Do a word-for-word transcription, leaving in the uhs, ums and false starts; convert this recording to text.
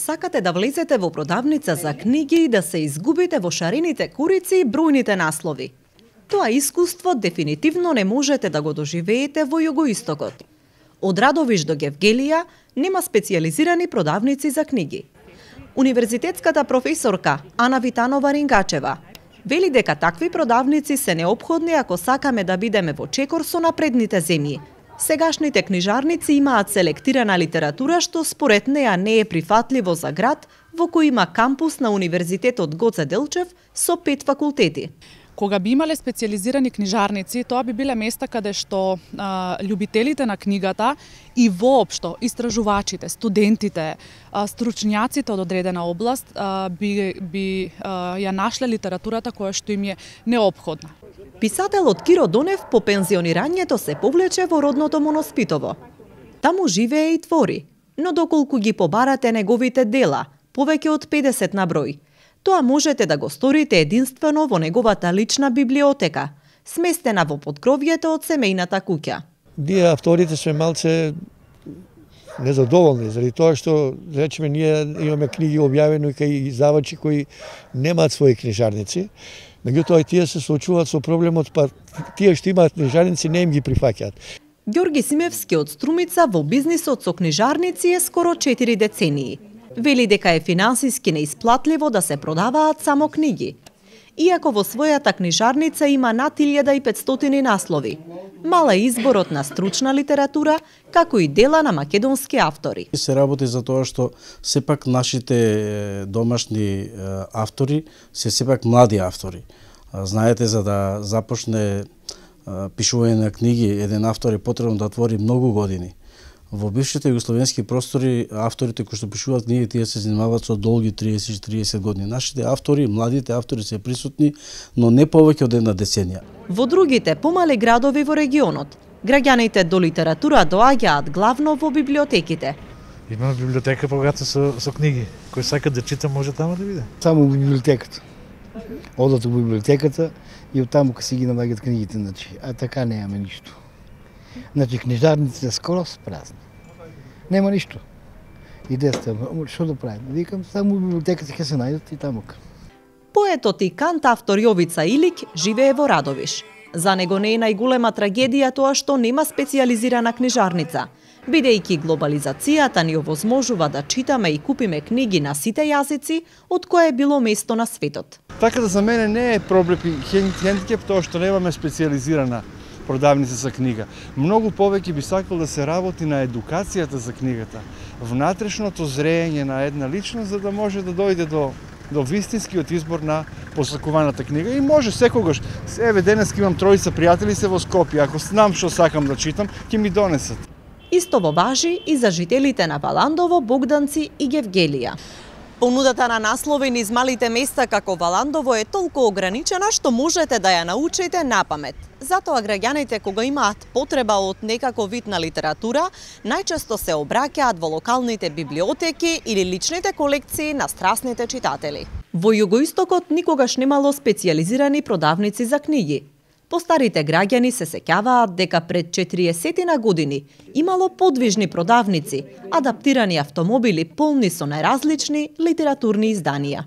сакате да влезете во продавница за книги и да се изгубите во шарените курици и бројните наслови. Тоа искуство дефинитивно не можете да го доживеете во Југоистокот. Од Радовиш до Гевгелија нема специјализирани продавници за книги. Универзитетската професорка Ана Витанова-Рингачева вели дека такви продавници се неопходни ако сакаме да бидеме во чекор со напредните земји. Сегашните книжарници имаат селектирана литература што според неа не е прифатливо за град во кој има кампус на Универзитетот Гоце Делчев со пет факултети. Кога би имале специјализирани книжарници, тоа би биле места каде што а, љубителите на книгата и воопшто истражувачите, студентите, а, стручњаците од одредена област а, би, би а, ја нашле литературата која што им е неопходна. Писателот Киро Донев по пензионирањето се повлече во родното му Носпитово. Таму живее и твори, но доколку ги побарате неговите дела, повеќе од педесет на број, тоа можете да го сторите единствено во неговата лична библиотека, сместена во поткровјето од семејната куќа. Ние авторите сме малце незадоволни, заради тоа што, речеме, ние имаме книги објавени кај издавачи кои немаат своји книжарници, меѓутоа и тие се соочуваат со проблемот, па тие што имаат книжарници не им ги прифаќаат. Ѓорги Симевски од Струмица во бизнисот со книжарници е скоро четири децении. Вели дека е финансиски неисплатливо да се продаваат само книги. Иако во својата книжарница има над илјада и петстотини наслови. Мала е изборот на стручна литература, како и дела на македонски автори. Се работи за тоа што сепак нашите домашни автори се сепак млади автори. Знаете, за да започне пишување на книги, еден автор е потребно да твори многу години. Во бившите југословенски простори, авторите кои што пишуваат книги, тие се занимаваат со долги триесет до триесет години. Нашите автори, младите автори се присутни, но не повеќе од една деценија. Во другите помали градови во регионот, граѓаните до литература доаѓаат главно во библиотеките. Имаме библиотека богата со, со книги. Кој сака да чита може таму да биде. Само во библиотеката. Одат во библиотеката и оттаму ка си ги наоѓаат книгите, значи, а така немаме ништо. Значи, книжарниците скоро се празни. Нема ништо. Идеста, што да правим? Викам, само во библиотеката ќе се најдат и таму. Поетот и кант автор Јовица Илик живее во Радовиш. За него не е најголема трагедија тоа што нема специјализирана книжарница, бидејќи глобализацијата ни овозможува да читаме и купиме книги на сите јазици од кое било место на светот. Така да за мене не е проблем и хендикеп тоа што немаме специјализирана продавница за книга. Многу повеќе би сакал да се работи на едукацијата за книгата, внатрешното зрење на една личност за да може да дојде до до вистинскиот избор на посакуваната книга и може секогаш. Еве денес имам тројца пријатели се во Скопје, ако знам што сакам да читам, ќе ми донесат. Истово важи и за жителите на Валандово, Богданци и Гевгелија. Понудата на наслови низ малите места како Валандово е толку ограничена што можете да ја научите напамет. Затоа граѓаните кога имаат потреба од некако вид на литература, најчесто се обраќаат во локалните библиотеки или личните колекции на страсните читатели. Во Југоистокот никогаш немало специјализирани продавници за книги. Постарите граѓани се сеќаваат дека пред четириесет години имало подвижни продавници, адаптирани автомобили полни со најразлични литературни изданија.